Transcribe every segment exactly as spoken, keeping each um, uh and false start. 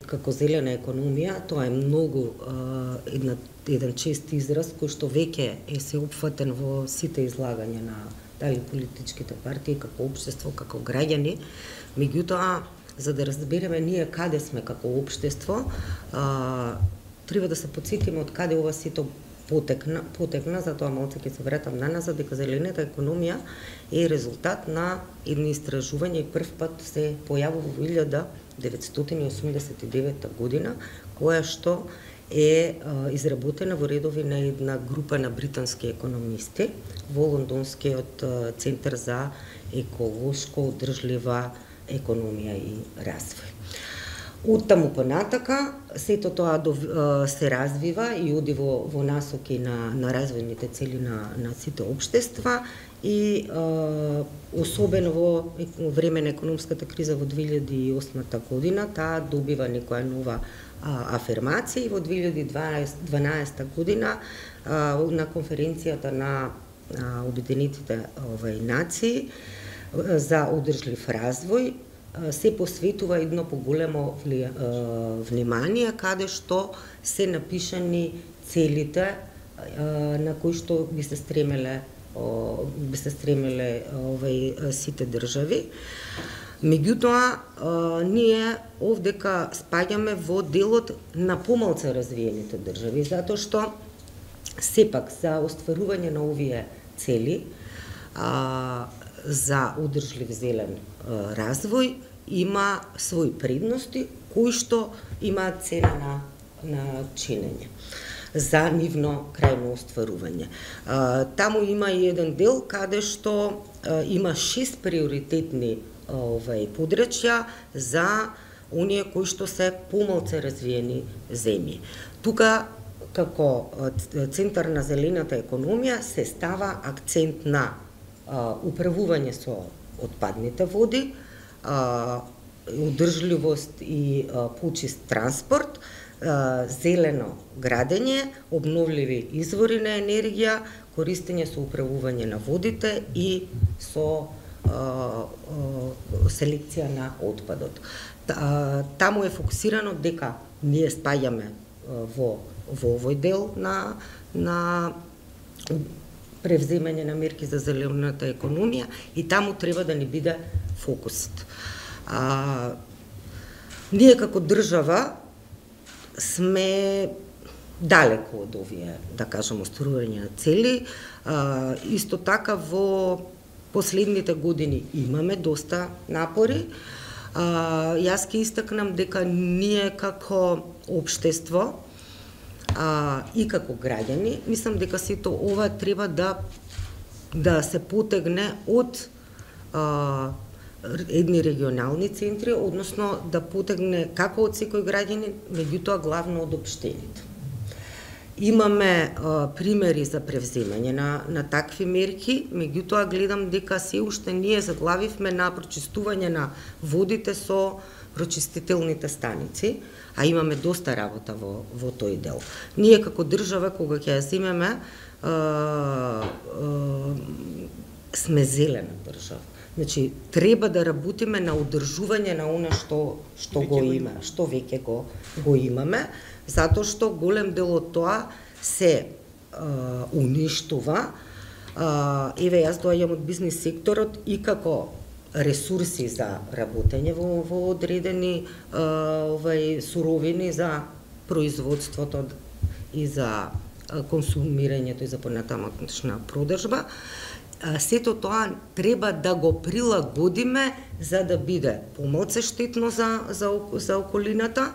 Како зелена економија, тоа е многу една, еден чест израз кој што веќе е се опфатен во сите излагања на дали политичките партии, како општество, како граѓани. Меѓутоа, за да разбереме ние каде сме како општество, а, треба да се потсетиме од каде ова сето потекна, потекна, затоа малце ќе се вратам на назад, дека зелената економија е резултат на едно истражување и прв пат се појавува во илјада деветстотини и осумдесет и девета година, која што е а, изработена во редови на една група на британски економисти во Лондонскиот центар за еколошко одржлива економија и развој. Од таму понатака, сето тоа се развива и оди во, во насоки на, на развојните цели на, на сите општества и а, особено во време на економската криза во две илјади и осма година, таа добива некоја нова а, афирмација и во две илјади и дванаесета година а, на конференцијата на а, Обединетите овај, нации за одржлив развој се посветува едно поголемо внимание, каде што се напишани целите на кои што би се стремеле би се стремеле овај сите држави. Меѓутоа, ние овдека спаѓаме во делот на помалце развиените држави, затоа што сепак за остварување на овие цели а, за одржлив зелен а, развој има своји предности кои што имаат цена на, на чинење за нивно крајно остварување. А, таму има и еден дел каде што а, има шест приоритетни овај подрачја за оние кои што се помалце развиени земји. Тука како центар на зелената економија се става акцент на а, управување со отпадните води, а, одржливост и а, почист транспорт, а, зелено градење, обновливи извори на енергија, користење со управување на водите и со а, а, селекција на отпадот. Таму е фокусирано дека ние спаѓаме во во овој дел на на превземање на мерки за зелената економија и таму треба да ни биде фокусот. А, ние како држава сме далеку од овие, да кажам, остварување на цели. А, исто така во последните години имаме доста напори. А, јас ќе истакнам дека ние како општество а, и како граѓани, мислам дека сето ова треба да да се потегне од а, едни регионални центри, односно да потегне како од секој граѓанин, меѓутоа главно од општините. Имаме а, примери за превземање на, на такви мерки, меѓутоа гледам дека се уште ние заглавивме на прочистување на водите со прочистителните станици, а имаме доста работа во, во тој дел. Ние како држава, кога ќе ја земеме, а, а, сме зелена држава. Значи, треба да работиме на одржување на она што, што го има, што веќе го, го имаме, затоа што голем дел од тоа се а, уништува. А, еве, јас доаѓам од бизнес секторот и како ресурси за работење во, во одредени а, овај, суровини за производството и за консумирањето и за понатамошна продажба. Сето тоа треба да го прилагодиме за да биде помалце штетно за, за, за околината,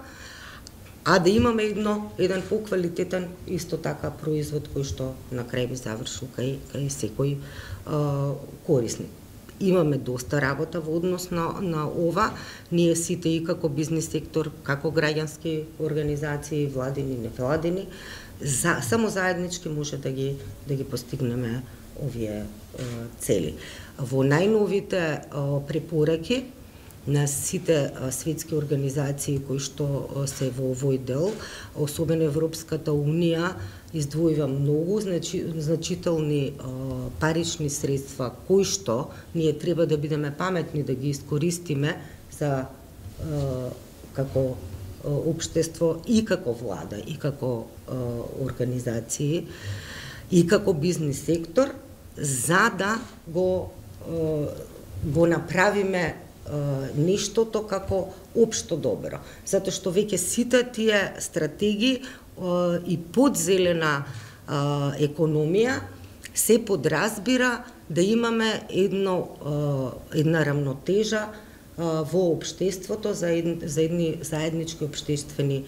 а да имаме едно, еден поквалитетен исто така производ кој што на крај би завршил кај, кај секој а, корисник. Имаме доста работа во однос на, на ова. Ние сите и како бизнес сектор, како граѓански организации, владини, невладини, за, само заеднички може да ги, да ги постигнеме овие е, цели. Во најновите е, препораки на сите е, светски организации кои што е, се во овој дел, особено Европската унија, издвојува многу значи, значителни е, парични средства кои што ние треба да бидеме паметни да ги искористиме за е, како општество, и како влада, и како организации, и како бизнес сектор, за да го го направиме нештото како општо добро. Затоа што веќе сите тие стратегии и подзелена економија се подразбира да имаме едно една рамнотежа во општеството за едни, за едни заеднички општествени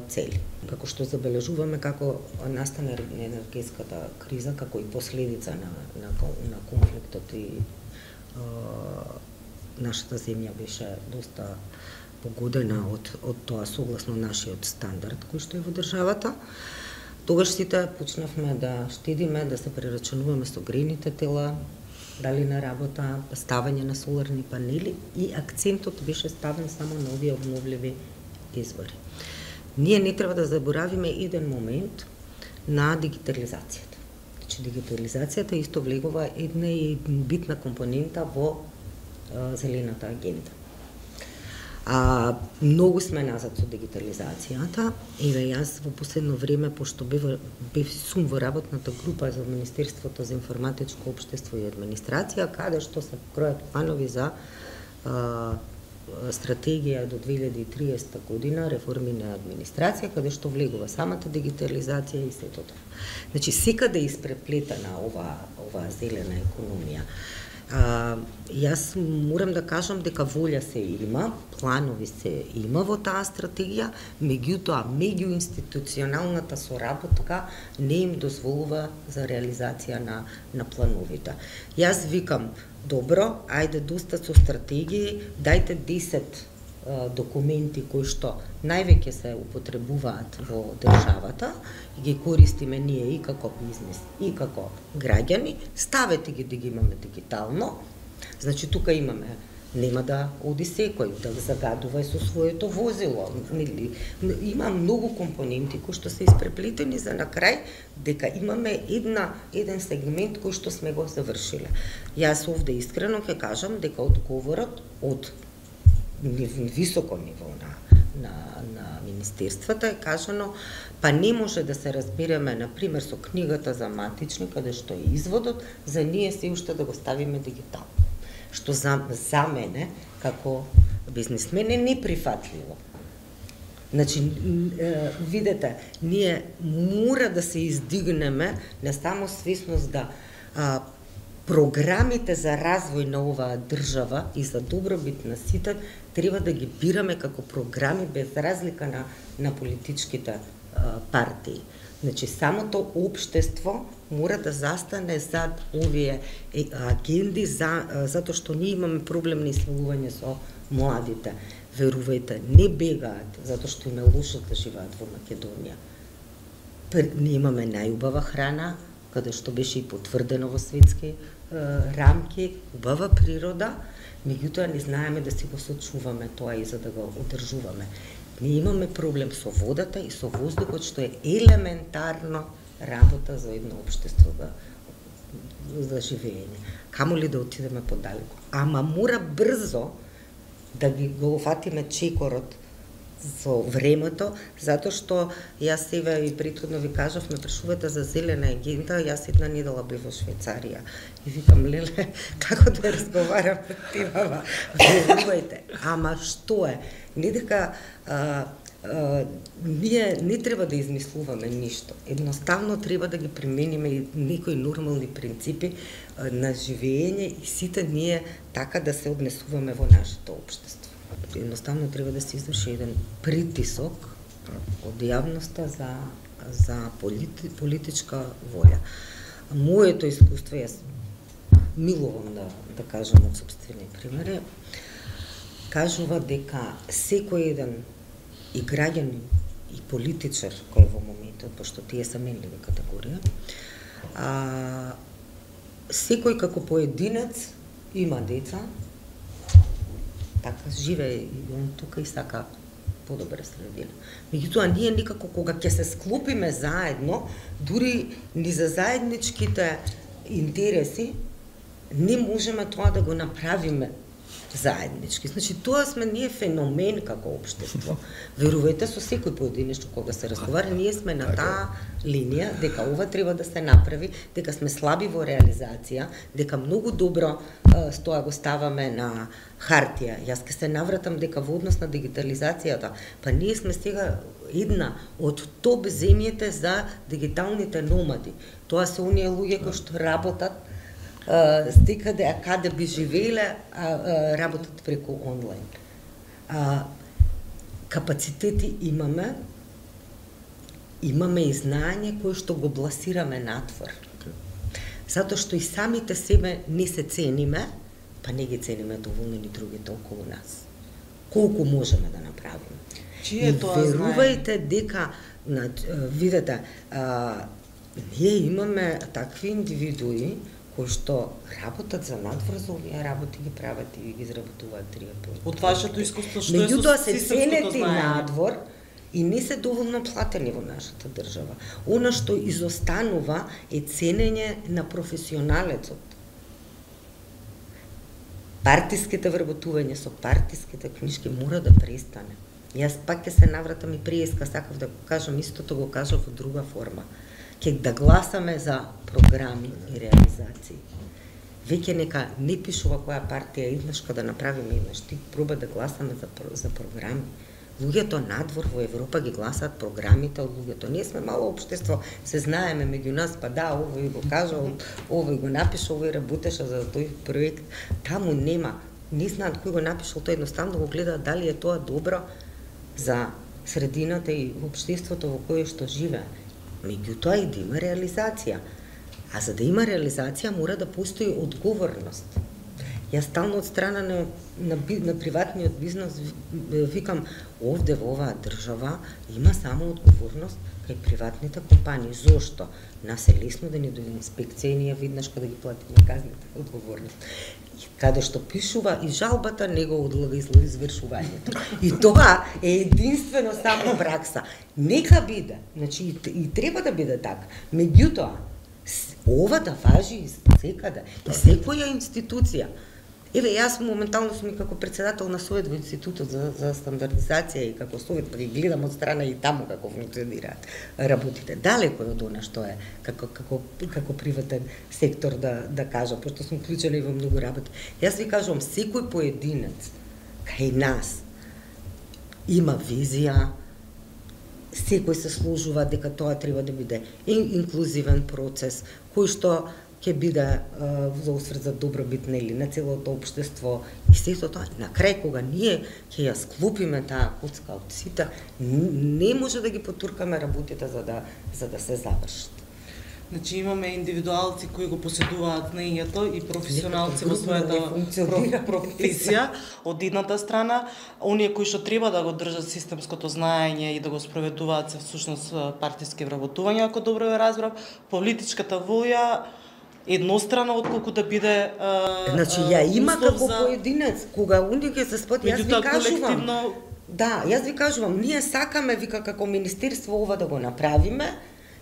цели. Како што забележуваме како настана енергетската криза, како и последица на, на, на конфликтот, и а, нашата земја беше доста погодена од, од тоа согласно нашиот стандард кој што е во државата. Тогаш сите почнавме да штедиме, да се прерачунуваме со грејните тела, дали на работа, ставање на соларни панели, и акцентот беше ставен само на овие обновливи извори. Ние не треба да заборавиме еден момент на дигитализацијата. Значи, дигитализацијата исто влегува една и битна компонента во а, зелената агенда. А, многу сме назад со дигитализацијата. Еве, јас во последно време, пошто бев, бев сум во работната група за Министерството за информатичко општество и администрација, каде што се кројат планови за а, стратегија до две илјади и триесета година, реформи на администрација, каде што влегува самата дигитализација и сето тоа. Значи, секаде е испреплетена ова, ова зелена економија. А, јас морам да кажам дека волја се има, планови се има во таа стратегија, меѓутоа меѓуинституционалната соработка не им дозволува за реализација на, на плановите. Јас викам, добро, ајде доста со стратегии, дајте десет а, документи кои што највеќе се употребуваат во државата и ги користиме ние и како бизнес, и како граѓани, ставете ги да ги имаме дигитално. Значи, тука имаме, нема да оди секој да загадува и со своето возило. Има многу компоненти кои што се испреплетени за на крај дека имаме една, еден сегмент кој што сме го завршиле. Јас овде искрено ќе кажам дека одговорот од високо ниво на на, на министерствата е кажано, па не може да се разбереме, например, со книгата за матични, каде што е изводот, за ние се уште да го ставиме дигитално. Што за, за мене, како бизнесмен, е неприфатливо. Значи, видете, ние мора да се издигнеме на само свесност да а, програмите за развој на оваа држава и за добробит на сите треба да ги бираме како програми без разлика на, на политичките а, партии. Значи, самото општество мора да застане зад овие агенди, за, затоа што ние имаме проблем на исселување со младите. Верувајте, не бегаат затоа што им е лошо да живеат во Македонија. Ние имаме најубава храна, каде што беше и потврдено во светски е, рамки, убава природа, меѓутоа не знаеме да си го сочуваме тоа и за да го одржуваме. Ние имаме проблем со водата и со воздухот, што е елементарно работа за едно општество за, за живење. Камо ли да отидеме подалеку? Ама мора брзо да ги го фатиме чекорот со времето, затоа што јас себе и претходно ви кажав, ме прашувате за зелена агенда, јас една недела бев во Швајцарија и викам, леле, како да разговарам темава, верувајте, ама што е? Не дека а, а, ние не треба да измислуваме ништо, едноставно треба да ги примениме и некои нормални принципи а, на живење и сите ние така да се однесуваме во нашето општество. Едноставно треба да се изврши еден притисок од јавноста за, за полити, политичка волја. Моето искуство, јас милувам да, да кажам од собствени примери, кажува дека секој еден и граѓанин и политичар кој во моментот, пошто тие се менливи категорија, а, секој како поединец има деца, така живее и он тука и сака подобра средина. Меѓутоа, ние никако кога ќе се склопиме заедно, дури ни за заедничките интереси, не можеме тоа да го направиме заеднички. Значи, тоа сме ние феномен како општество. Верувајте, со секој поединечно кога се разговара, ние сме на таа линија дека ова треба да се направи, дека сме слаби во реализација, дека многу добро с тоа го ставаме на хартија. Јас ке се навратам дека во однос на дигитализацијата, па ние сме сега една од топ земјите за дигиталните номади. Тоа се оние луѓе кои што работат стикаде, а каде би живееле, а, а, работат преку онлайн. А, капацитети имаме, имаме и знаење кои што го бласираме надвор. Затоа што и самите себе не се цениме, па не ги цениме доволно ни другите околу нас. Колку можеме да направиме. Чие е тоа знаење? Верувајте дека, на, видете, а, ние имаме такви индивидуи кои што работат за надвор, за овие работи ги прават и ги изработуваат три пати. Од вашето искуство што е Меѓутоа со се системското ценети знаење? надвор и не се доволно платени во нашата држава. Она што изостанува е ценење на професионалецот. Партиските вработување со партиските книжки мора да престане. Јас пак ќе се навратам и приеска, сакав да го кажам, истото го кажав во друга форма. Ке да гласаме за програми и реализации. Веќе нека не пишува која партија еднаш да направиме еднаш, ти проба да гласаме за, за програми. Луѓето надвор во Европа ги гласаат програмите од луѓето. Ние сме мало општество, се знаеме меѓу нас, па да, овој го кажа, овој го напиша, овој работеше за тој проект. Таму нема, не знаат кој го напишал, тој едноставно го гледаат дали е тоа добро за средината и општеството во кое што живее. Меѓутоа и да има реализација. А за да има реализација мора да постои одговорност. Јас стално од страна на, на, на приватниот бизнес викам, овде во оваа држава има само одговорност кај приватните компании. Зошто? Нас е лесно да ни дојде инспекција и ние виднаш кога ги платиме казните одговорност. Каде што пишува и жалбата, него одлага извршувањето. И тоа е единствено само пракса. Нека биде, значи и, и треба да биде така. Меѓутоа, ова да важи и секаде, и секоја институција. Еве, јас моментално сум и како председател на Совет во Институтот за, за стандардизација и како Совет, па ги гледам од страна и таму како функционираат работите. Далеко од она што е како, како, како приватен сектор да, да кажа, пошто сум вклучена и во многу работи. Јас ви кажувам, секој поединец кај нас има визија, секој се сложува дека тоа треба да биде инклузивен процес, кој што ќе биде за осврт за добробит нели на целото општество и сето тоа. На крај кога ние ќе ја склопиме таа коцка од сите, не може да ги потуркаме работите за да за да се завршат. Значи имаме индивидуалци кои го поседуваат знаењето и професионалци во својата професија од едната страна, оние кои што треба да го држат системското знаење и да го спроведуваат се всушност партиски вработувања, ако добро ја разбрав, политичката волја еднострано отколку да биде а, значи ја има како за... поединец кога оние ќе се спот, јас ви кажувам колективно... да, јас ви кажувам, ние сакаме вика како министерство ова да го направиме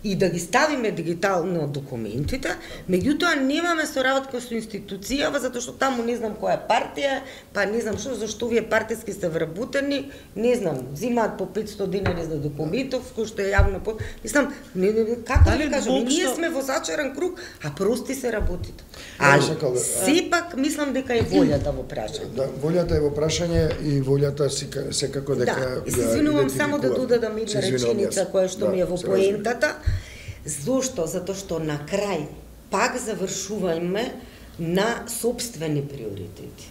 и да ги ставиме дигитално документите, меѓутоа немаме соработка со институцијава, затоа што таму не знам која партија, па не знам што, зашто овие партиски се вработени, не знам, взимаат по петсто динари за документов, кој што е јавно по... Мислам, не, не, како да ви кажам, ние сме во зачаран круг, а прости се работите. Али, сепак мислам дека е волјата во прашање. Да, волјата е во прашање и волјата секако дека... Да, и се извинувам само да додадам една реченица која што ми е во поентата. Зошто? Затоа што на крај пак завршуваме на собствени приоритети.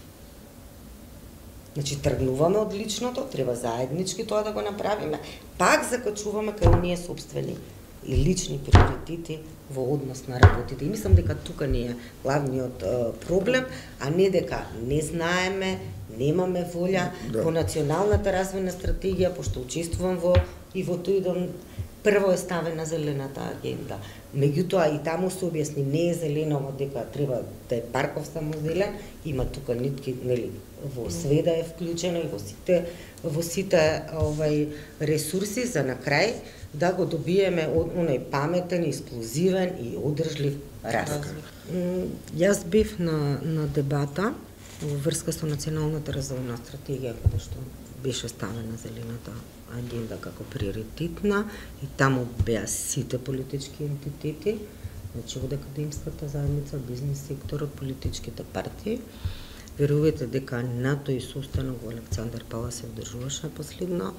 Значи, тргнуваме од личното, треба заеднички тоа да го направиме, пак закачуваме кај оние собствени и лични приоритети во однос на работите. И мислам дека тука не е главниот е, проблем, а не дека не знаеме, немаме волја. Да. Во националната развојна стратегија, пошто учествувам во и во тој прво е ставена зелената агенда. Меѓутоа и таму се објасни, не е зелено дека треба да е парков само зелен, има тука нитки, нели, во сведа е вклучено и во сите во сите овај ресурси за на крај да го добиеме оној паметен, експлозивен и одржлив раст. Јас бев на на дебата во врска со националната развојна стратегија, каде што беше ставена зелената агенда како приоритетна и таму беа сите политички ентитети, значи од академската заедница, бизнес секторот, политичките партии. Верувате дека на тој состанок во Александар Палас се одржуваше последно.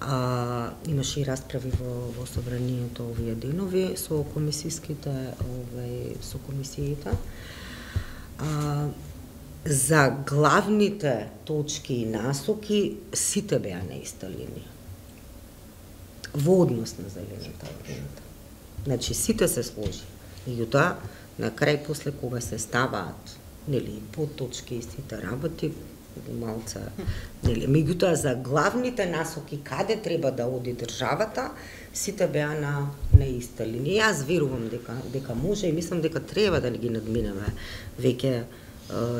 А, имаше и расправи во, во собранието овие денови со комисиските, овај, со комисиите. А, за главните точки и насоки сите беа на иста линија. Во однос на зелената агенда. Значи сите се сложи. Меѓутоа, на крај после кога се ставаат, нели, подточки и сите работи, малца, нели, меѓутоа за главните насоки каде треба да оди државата, сите беа на на иста линија. Јас верувам дека дека може и мислам дека треба да ги надминеме веќе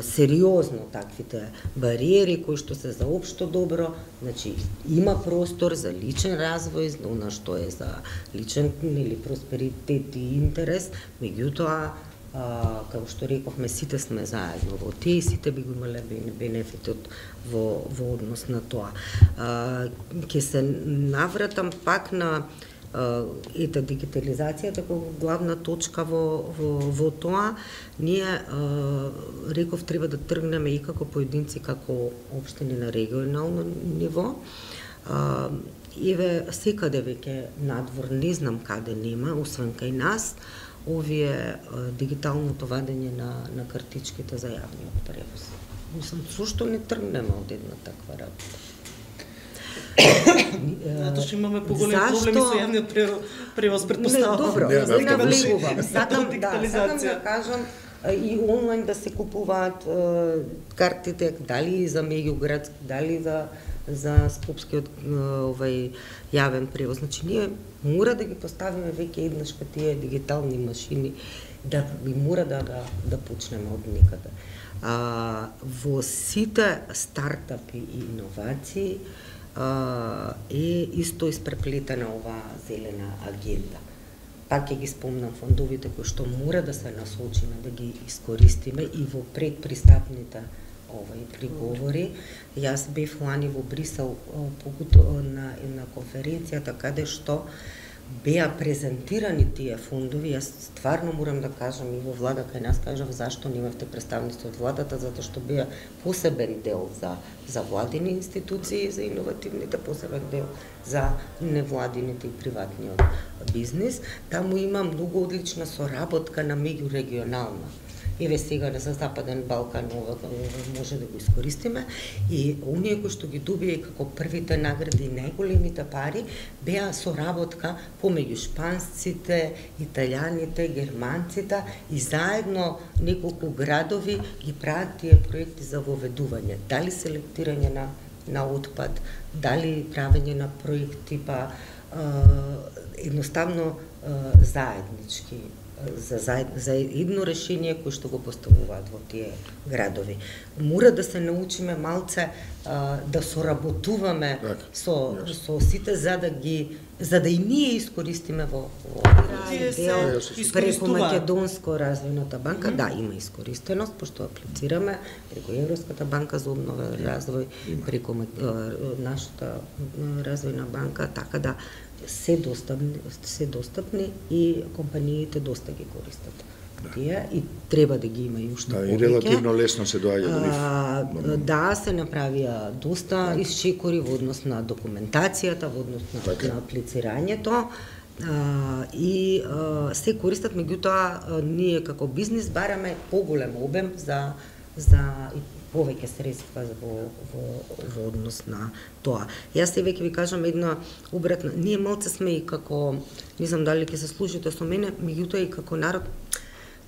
сериозно таквите бариери кои што се за општо добро, значи има простор за личен развој, за она што е за личен, нели, просперитет и интерес, меѓутоа Uh, како што рековме, сите сме заедно во тие и сите би го имале бенефитот во, во однос на тоа. Uh, ке се навратам пак на uh, ета дигитализацијата како главна точка во, во, во тоа. Ние, uh, реков, треба да тргнеме и како поединци, како општини на регионално ниво. Uh, еве, секаде веќе надвор, не знам каде нема, освен кај нас, овие дигиталното вадење на, на картичките за јавниот превоз. Мислам, зошто не тргнеме од една таква работа? Затоа што имаме поголеми проблеми со јавниот превоз, претпоставувам. Добро, не навлегувам. Сакам да, сакам да кажам и онлайн да се купуваат картите, дали за меѓуградски, дали за за скопскиот овај јавен превоз. Значи ние мора да ги поставиме веќе еднаш кај тие дигитални машини, да би мора да да, да почнеме од некаде. А, во сите стартапи и иновации а, е исто испреплетена оваа зелена агенда. Пак ќе ги спомнам фондовите кои што мора да се насочиме да ги искористиме и во предпристапните овај приговори. Јас бев лани во Брисел на една конференцијата каде што беа презентирани тие фондови. Јас стварно морам да кажам и во влада кај нас кажав зашто немавте представници од владата, затоа што беа посебен дел за за владини институции, за иновативните, посебен дел за невладините и приватниот бизнис. Таму има многу одлична соработка на меѓурегионална. Еве сега за Западен Балкан ова може да го искористиме и оние кои што ги добија како првите награди и најголемите пари беа соработка помеѓу шпанците, италијаните, германците и заедно неколку градови ги прават тие проекти за воведување, дали селектирање на на отпад, дали правење на проекти па едноставно заеднички за заед, за едно решение кој што го поставуваат во тие градови. Мора да се научиме малце а, да соработуваме так, со јас. со сите за да ги за да и ние искористиме во во дел преку Македонско развојната банка. Mm -hmm. Да, има искористеност пошто аплицираме преку Европската банка за обнова и развој, преку нашата развојна банка, така да се достапни, се достапни и компаниите доста ги користат. Да. Тие и треба да ги има и уште да, повеќе. И релативно лесно се доаѓа до нив. Да, се направија доста да. исчекори во однос на документацијата, во однос на, така. на аплицирањето. А, и а, се користат, меѓутоа ние како бизнис бараме поголем обем за за повеќе средства во, во, во однос на тоа. Јас се веќе ви кажам една обратна, ние малце сме и како, не знам дали ќе се слушате со мене, меѓутоа и како народ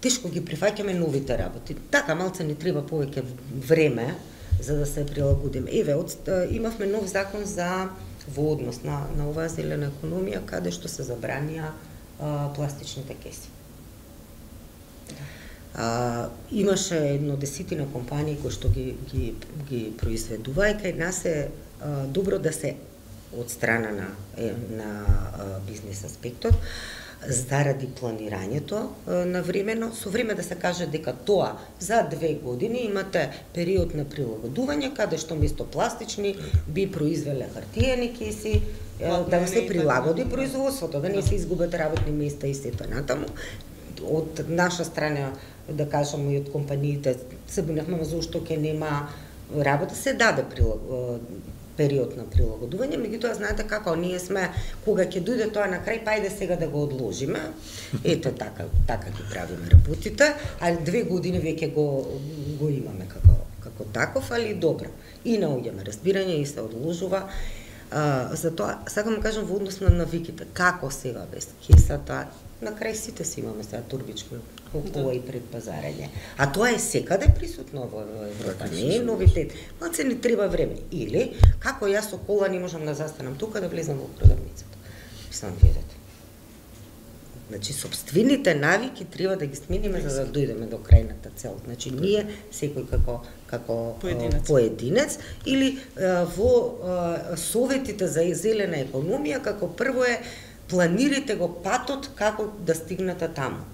тешко ги прифаќаме новите работи. Така малце ни треба повеќе време за да се прилагодиме. Еве, од, имавме нов закон за во однос на на оваа зелена економија каде што се забранија а, пластичните кеси. А, имаше едно десетина компании кои што ги ги ги произведува и кај нас е а, добро да се од страна на е, на а, бизнес аспектот заради планирањето на времено, со време да се каже дека тоа за две години имате период на прилагодување, каде што место пластични би произвеле хартиени кеси, да се прилагоди производството, да не се изгубат работни места и сето натаму. Од наша страна, да кажам, и од компаниите се буневме зашто ќе нема работа, се даде период на прилагодување, меѓутоа знаете како, ние сме, кога ќе дојде тоа на крај, па ајде сега да го одложиме, ето така, така ги правиме работите, а две години веќе го, го имаме како, како таков, али добро. И наоѓаме разбирање и се одложува. Uh, затоа, сакам да кажам во однос на навиките, како сега без кесата, на крај сите си имаме сега турбички околу и предпазарење. А тоа е секаде присутно во Европа, не е новитет. Малце ни треба време. Или, како јас со кола не можам да застанам тука да влезам во продавницата. Сам видете. Значи, собствените навики треба да ги смениме за да дојдеме до крајната цел. Значи, ние, секој како, како поединец. поединец, или а, во а, советите за зелена економија, како прво е планирате го патот како да стигнете таму.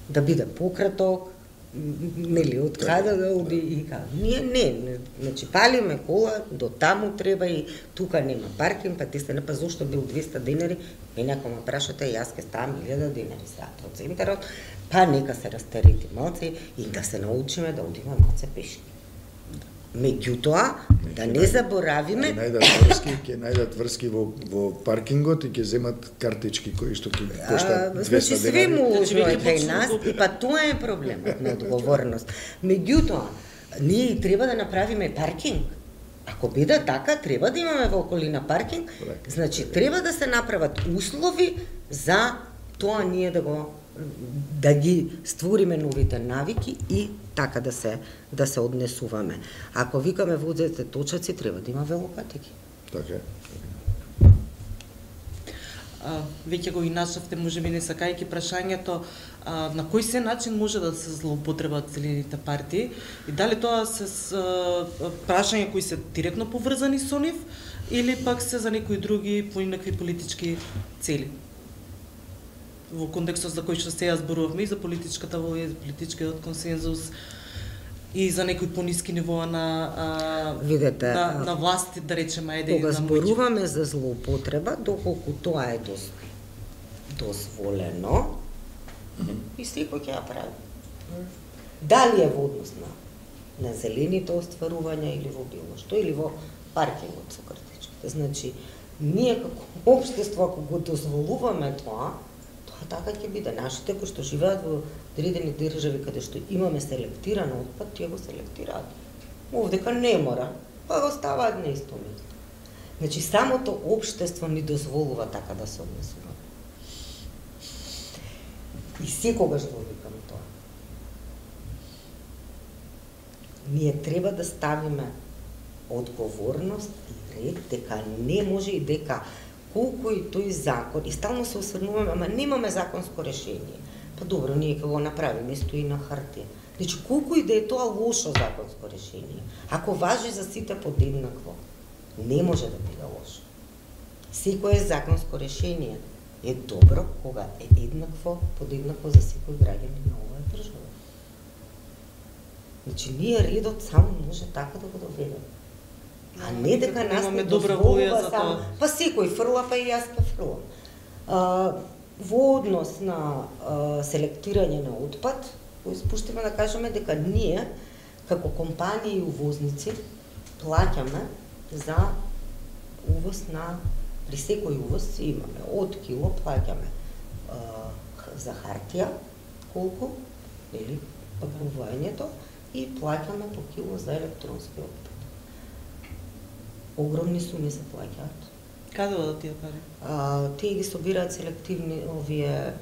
Да биде пократок, нели, од каде да оди и каде. Ние не, не, значи палиме кола, до таму треба и тука нема паркинг, па ти се не па зошто бил двеста денари, мене ако ме прашате, јас ке ставам илјада денари саат од центарот, па нека се растерети малце и да се научиме да одиме малце пешки. Меѓутоа, да не заборавиме, ќе најдат врски, ќе најдат врски во во паркингот и ќе земат картички кои што ќе коштаат двеста значи, денари. Значи све му кај нас, и па тоа е проблемот на одговорност. Меѓутоа, ние и треба да направиме паркинг. Ако биде така, треба да имаме во околина паркинг, значи треба да се направат услови за тоа ние да го да ги створиме новите навики и така да се да се однесуваме. Ако викаме возете точаци, треба да има велопатеки. Така е. А, веќе го и начавте, можеби не сакајќи прашањето, а, на кој се начин може да се злоупотребат зелените партии и дали тоа се с, а, прашања кои се директно поврзани со нив или пак се за некои други по некакви политички цели? Во контекстот за кој што сега зборувавме и за политичката волја, за политичкиот консензус и за некои пониски нивоа на а, видете на, на власти, да речеме, ајде кога на зборуваме за злоупотреба, доколку тоа е дос, дозволено, и секој ќе ја прави. Дали е во однос на, на зелените остварувања или во било што, или во паркингот со картичките. Значи, ние како општество, ако го дозволуваме тоа, така ќе биде. Нашите кои што живеат во одредени држави каде што имаме селектиран отпад, тие го селектираат. Овдека не мора, па го ставаат на исто место. Значи самото општество ни дозволува така да се однесува. И секогаш го викам тоа. Ние треба да ставиме одговорност и ред, дека не може и дека колку и тој закон, и стално се осврнуваме, ама немаме законско решение. Па добро, ние ќе го направиме, стои на хартија. Значи, колку и да е тоа лошо законско решение, ако важи за сите подеднакво, не може да биде лошо. Секое законско решение е добро кога е еднакво, подеднакво за секој граѓанин на оваа држава. Значи, ние редот само може така да го доведеме. А не дека нас не добра волја за тоа. Па секој фрла, па и јас ке фрлам. А, во однос на а, селектирање на отпад, спуштиме да кажеме дека ние, како компании и увозници, плаќаме за увоз на, при секој увоз имаме, од кило плаќаме а, за хартија, колку, или пакувањето, и плаќаме по кило за електронски отпад. Огромни суми се плаќаат. Каде одат тие пари? А, тие ги собираат селективни овие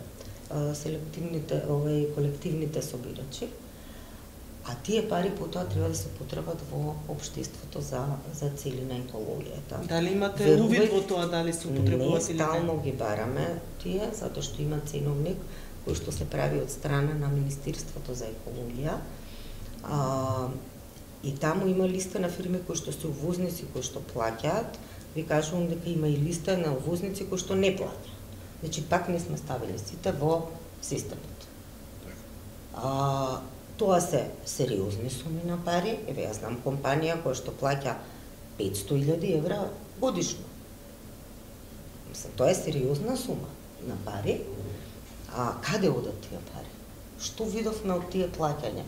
а, селективните овие колективните собирачи. А тие пари потоа треба да се потребат во општеството за за цели на екологијата. Дали имате увид во тоа дали се употребуваат или не? Стално ги бараме тие затоа што има ценовник кој што се прави од страна на Министерството за екологија. А, и таму има листа на фирми кои што се увозници кои што плаќаат. Ви кажувам дека има и листа на увозници кои што не плаќаат. Значи, пак не сме ставили сите во системот. А, тоа се сериозни суми на пари. Еве, јас знам компанија која што плаќа петсто илјади евра годишно. Мислам, тоа е сериозна сума на пари. А каде одат тие пари? Што видовме од тие плаќања?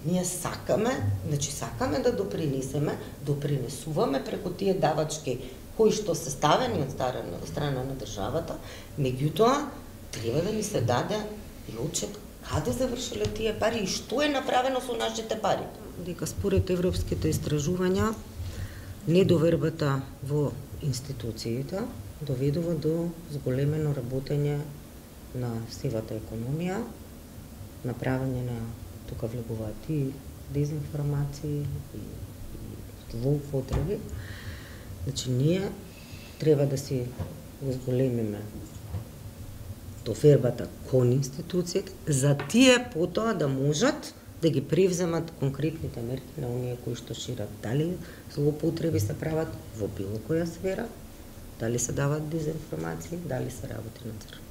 Ние сакаме, значи сакаме да допринесеме, допринесуваме преку тие давачки кои што се ставени од страна, страна на државата, меѓутоа треба да ни се даде и отчет каде завршиле тие пари и што е направено со нашите пари. Дека според европските истражувања недовербата во институциите доведува до зголемено работење на сивата економија, направење на тука влегуваат и дезинформации и, и злоупотреби. Значи, ние треба да си зголемиме довербата кон институциите, за тие потоа да можат да ги превземат конкретните мерки на оние кои што шират. Дали злоупотреби се прават во било која сфера, дали се дават дезинформации, дали се работи на црно.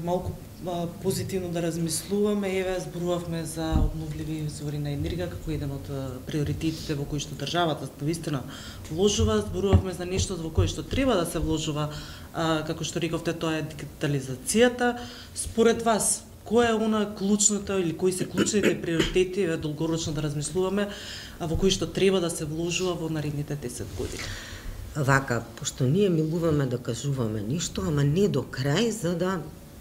Малку а, позитивно да размислуваме, еве зборувавме за обновливи извори на енергија како еден од приоритетите во кои што државата навистина вложува, зборувавме за нешто во кое што треба да се вложува, а, како што рековте, тоа е дигитализацијата. Според вас, кој е она клучното или кои се клучните приоритети, еве долгорочно да размислуваме, а во кои што треба да се вложува во наредните десет години? Вака, пошто ние милуваме да кажуваме ништо, ама не до крај, за да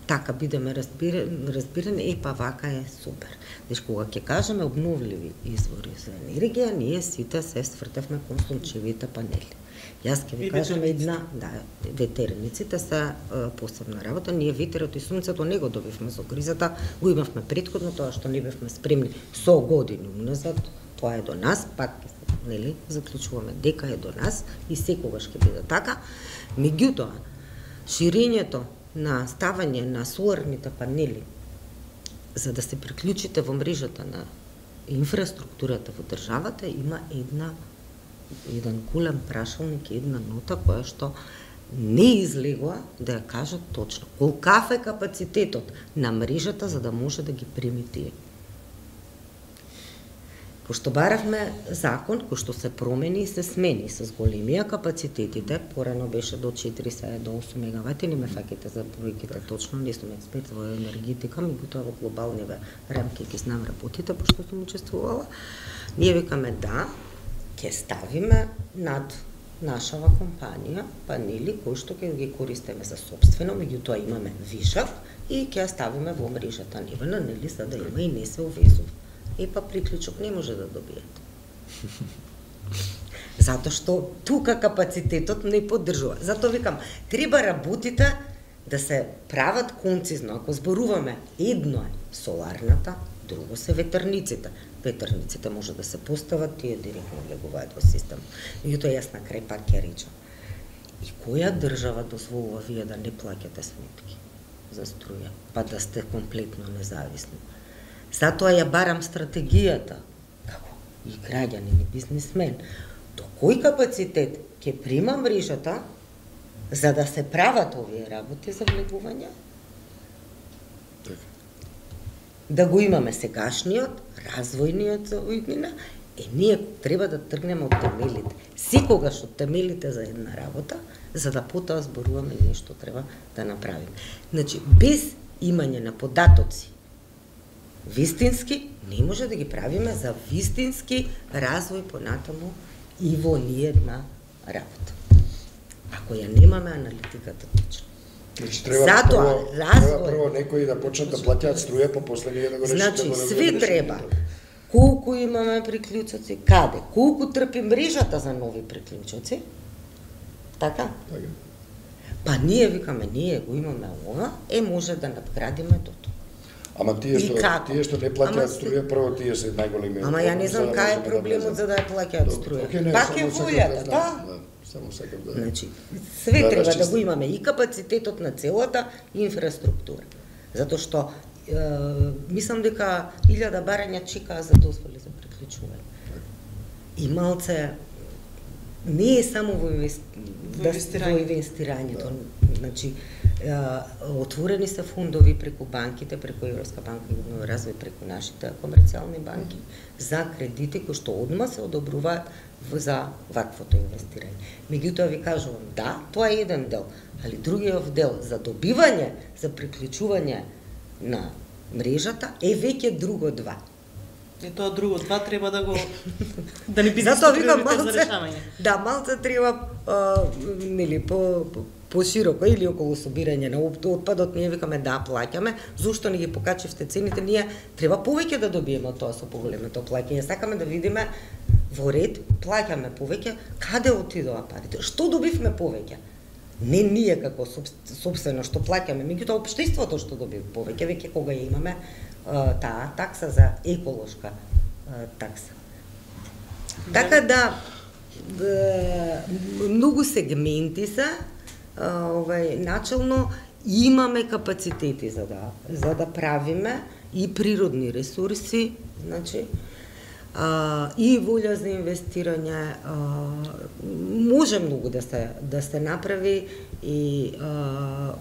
така бидеме разбирани, разбирани, е па вака е супер. Значи, кога ќе кажеме обновливи извори за енергија, ние сите се свртевме кон сончевите панели. Јас ќе ви кажам една, да, ветерниците се е, посебна работа. Ние ветерот и сонцето не го добивме со кризата, го имавме претходно, тоа што не бевме спремни со години уназад, тоа е до нас, пак нели заклучуваме дека е до нас и секогаш ќе биде така. Меѓутоа, ширењето на ставање на соларните панели за да се приклучите во мрежата на инфраструктурата во државата има една еден голем прашалник, една нота која што не излегува да ја кажат точно колкав е капацитетот на мрежата за да може да ги прими тие. Пошто баравме закон кој што се промени и се смени с големија капацитетите, порано беше до четири, сега до осум мегавати, не ме фаќате за бројките точно, не сум експерт во енергетика, меѓутоа во глобалниве рамки ги знам работите, пошто сум учествувала. Ние викаме да, ќе ставиме над нашава компанија панели кои што ќе ги користиме за сопствено, меѓутоа имаме вишак и ќе ставиме во мрежата нивна, нели, за да има и не се увезува. И па приклучок не може да добиете. Затоа што тука капацитетот не поддржува. Затоа викам, треба работите да се прават концизно. Ако зборуваме, едно е соларната, друго се ветерниците. Ветерниците може да се постават, тие директно влегуваат во систем. Меѓутоа јас на крај пак ќе речам. И која држава дозволува вие да не плаќате сметки за струја, па да сте комплетно независни? Затоа ја барам стратегијата, како и граѓанин и бизнисмен, до кој капацитет ќе прима мрежата за да се прават овие работи за влегување, да го имаме сегашниот, развојниот за уиднина, е ние треба да тргнеме од темелите. Секогаш од темелите за една работа, за да потоа зборуваме нешто треба да направиме. Значи, без имање на податоци вистински, не може да ги правиме за вистински развој понатаму и во ниедна работа. Ако ја немаме аналитиката точно. Значи, треба, Затоа, прво, развој... треба прво некои да почнат да плаќаат струја, па после ние да го решите. Значи, да све треба. Колку имаме приклучоци, каде, колку трпи мрежата за нови приклучоци, така? Така. Па ние викаме, ние го имаме ова, е може да надградиме до тоа. Ама тие што тие што не плаќаат струја, прво тие се најголеми. Ама ја не знам кај е проблемот за да ја плаќаат струја. Пак е волјата, да? Само сакам да. Значи, све да, треба да го имаме и капацитетот на целата инфраструктура. Затоа што е, мислам дека илјада барања чекаа за дозволи за приклучување. И малце не е само во, инвести... во инвестирањето. Да. Значи, отворени се фондови преку банките, преку Европска банка за обнова и развој, преку нашите комерцијални банки за кредити кои што одма се одобруваат за ваквото инвестирање. Меѓутоа ви кажувам, да, тоа е еден дел, али другиот дел за добивање, за приклучување на мрежата е веќе друго два. И тоа друго два треба да го да не биде Затоа викам приоритет малце, за решавање. Да, малце треба а, нели по, по пошироко или околу собирање на отпадот, ние викаме да плаќаме, зошто не ги покачивте цените, ние треба повеќе да добиеме од тоа со поголемото плаќање. Сакаме да видиме во ред, плаќаме повеќе, каде отидоа парите, што добивме повеќе. Не ние како собствено што плаќаме, меѓутоа општеството што добива повеќе, веќе кога ја имаме а, таа такса за еколошка а, такса. Така да, да многу сегменти се, овај начелно имаме капацитети за да за да правиме и природни ресурси, значи а, и волја за инвестирање, а, може многу да се да се направи и а,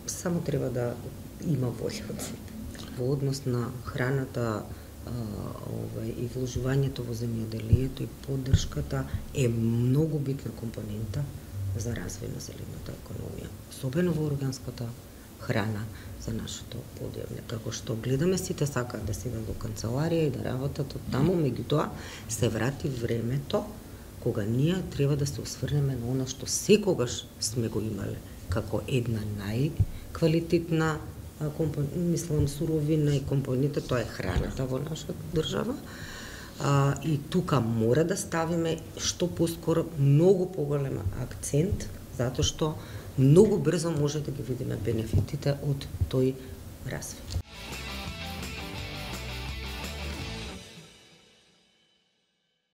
само треба да има волја од сите. Во однос на храната, а, овај и вложувањето во земјоделието и поддршката е многу битна компонента за развој на зелената економија, особено во органската храна за нашето подјавле. Како што гледаме, сите сакаат да седат во канцеларија и да работат од таму, меѓутоа се врати времето кога ние треба да се осврнеме на она што секогаш сме го имале како една најквалитетна мислам суровина и компонента, тоа е храната во нашата држава. А, и тука мора да ставиме што поскоро многу поголем акцент, затоа што многу брзо може да ги видиме бенефитите од тој развој.